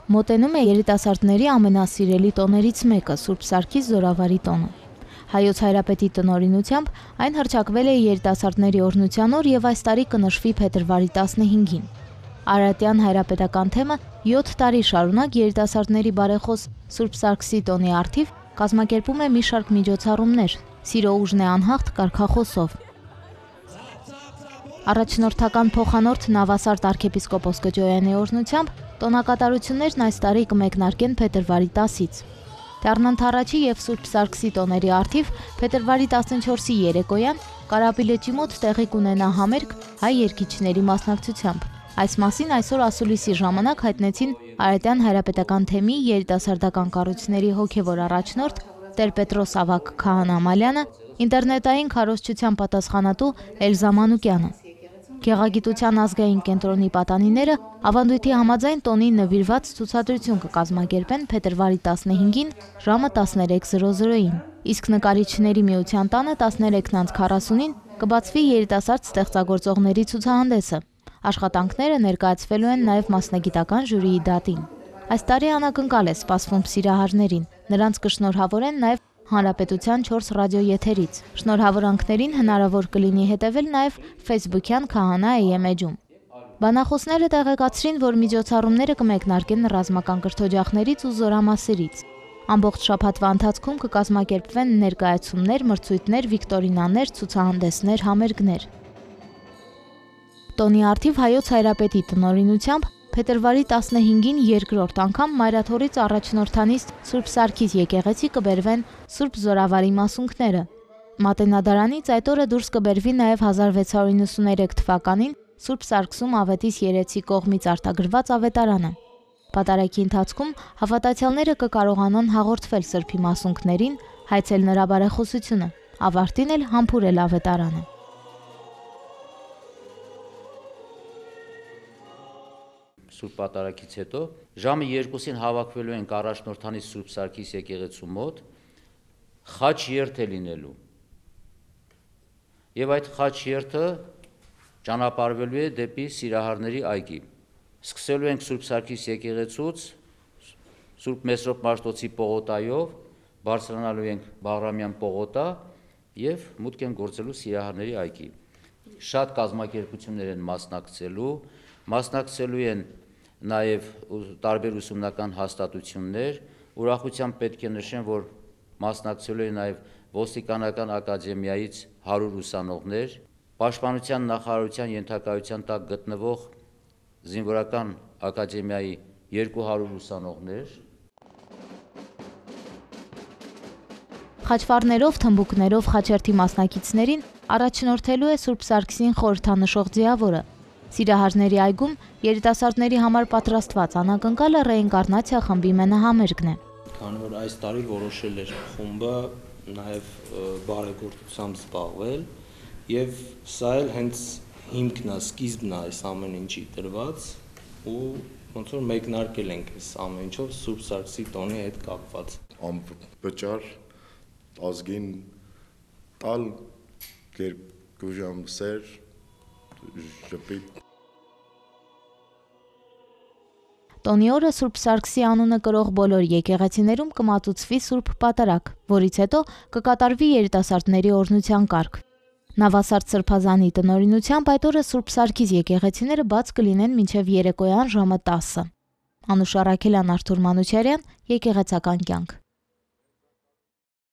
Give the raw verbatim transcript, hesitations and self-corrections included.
Մոտենում է երիտասարդների ամենասիրելի տոներից մեկը՝ Սուրբ Սարգիս Զորավարի տոնը։ Հայոց Հայրապետի տնօրինությամբ այն հռչակվել է երիտասարդների օրհնության օր եւ այս տարի կնշվի փետրվարի տասնհինգին։ Արարատյան հայրապետական թեմը յոթ տարի շարունակ երիտասարդների բարեխոս Սուրբ Սարգսի տոնի առթիվ կազմակերպում է մի շարք միջոցառումներ՝ «Սիրո ուժն է անհաղթ» կարգախոսով։ Առաջնորդական փոխանորդ Նավասարդ arczepiskopos Կճոյանի օրհնությամբ տոնակատարություններն այս տարի կմեկնարկեն փետրվարի տասից։ Դառնանթ եւ Սուրբ Սարգսի տոների առթիվ փետրվարի տասնչորսի երեկոյան Կարապի լճի մոտ տեղի կունենա համերգ հայ երգիչների մասնակցությամբ։ Այս մասին այսօր ասուլիսի ժամանակ հայտնեցին Արարատյան հայրապետական թեմի երիտասարդական կառույցների հոգևոր առաջնորդ Տեր-Պետրոս Ավագ Քահանա Մալյանը, ինտերնետային քարոզչության պատասխանատու Էլզա Մանուկյանը։ Գեղագիտության ազգային կենտրոնի պատանիները ավանդույթի համաձայն տոնին նվիրված ցուցադրություն կկազմակերպեն փետրվարի տասնհինգին ժամը տասներեք զրո զրոյին, իսկ նկարիչների միության տանը տասներեքն քառասունին կբացվի երիտասարդ ստեղծագործողների ցուցահանդեսը։ Աշխատանքները ներկայացվելու են նաև մասնագիտական ժյուրիի դատին։ Այս տարի անակնկալ է սպասվում սիրահարներին, նրանց կշնորհավորեն նաև Հանրապետության չորս ռադիոեթերից։ Շնորհավորանքներին հնարավոր կլինի հետևել նաև Facebook-յան Քահանա էյ էմ էջում։ Բանախոսները տեղեկացրին, որ միջոցառումները կմեկնարկեն ռազմական կրթօջախներից ու զորամասերից։ Ամբողջ շաբաթվա ընթացքում կկազմակերպվեն ներկայացումներ, մրցույթներ, վիկտորինաներ, ցուցահանդեսներ, համերգներ։ Տոնի առթիվ Հայոց Հայրապետի տնօրինությամբ փետրվարի տասնհինգին երկրորդ անգամ Մայրաթորից առաջնորդանիստ Սուրբ Սարգիս եկեղեցի կբերվեն Սուրբ Զորավարի մասունքները։ Մատենադարանից այդ օրը դուրս կբերվի նաև հազար վեց հարյուր նվաթ թվականին Սուրբ Սարգսում Ավետիս երեցի կողմից արտագրված ավետարանը։ Պատարագի ընթացքում հավատացյալները կկարողանան հաղորդվել Սրբի մասունքներին, հայցել նրա բարեխոսությունը, ավարտին էլ համբուրել ավետարանը։ Սուրբ պատարագից հետո ժամը երկուսին հավաքվելու ենք առաջնորդանից Սուրբ Սարգիս եկեղեցու մոտ, խաչ երթ է լինելու։ Եվ այդ խաչ երթը ճանապարհվելու է դեպի Սիրահարների այգի։ Սկսելու ենք Սուրբ Սարգիս եկեղեցուց, Սուրբ Մեսրոպ Մաշտոցի պողոտայով, բարձրանալու ենք Բաղրամյան պողոտա եւ մուտք ենք գործելու Սիրահարների այգի։ Շատ կազմակերպություններ են մասնակցելու, մասնակցելու են նաև տարբեր ուսումնական հաստատություններ, ուրախությամբ պետք է նշեմ, որ մասնակցելու են նաև ոստիկանական ակադեմիայից հարյուր ուսանողներ, Պաշտպանության նախարարության ենթակայության տակ գտնվող զինվորական ակադեմիայի երկու հարյուր ուսանողներ։ Խաչվառներով, թմբուկներով խաչերթի մասնակիցներին առաջնորդելու է Սուրբ Սարգսին խորհրդանշող ձիավորը։ Սիրահարների այգում երիտասարդների համար պատրաստված անակնկալը ռեինկարնացիա խմբի մենահամերգն է։ Քանի որ այս տարի որոշել էր խումբը նաև բարեգործությամբ զբաղվել եւ սա էլ հենց հիմքն է, սկիզբն է այս ամեն ինչի դրված ու ոնց որ մեկնարկել ենք այս ամեն ինչով Սուրբ Սարգսի տոնի հետ կապված։ Անվճար ազգին տալ երկուժամ սեր ժպիտ։ Տոնի օրը Սուրբ Սարգսի անունը կրող բոլոր եկեղեցիներում կմատուցվի Սուրբ Պատարագ, որից հետո կկատարվի երիտասարդների օրհնության կարգ։ Նավասարդ Սրբազանի տնօրինությամբ այդ օրը Սուրբ Սարգիս եկեղեցիները բաց կլինեն մինչև երեկոյան ժամը տասը։ Անուշ Առաքելյան, Արթուր Մանուչարյան, Եկեղեցական կյանք։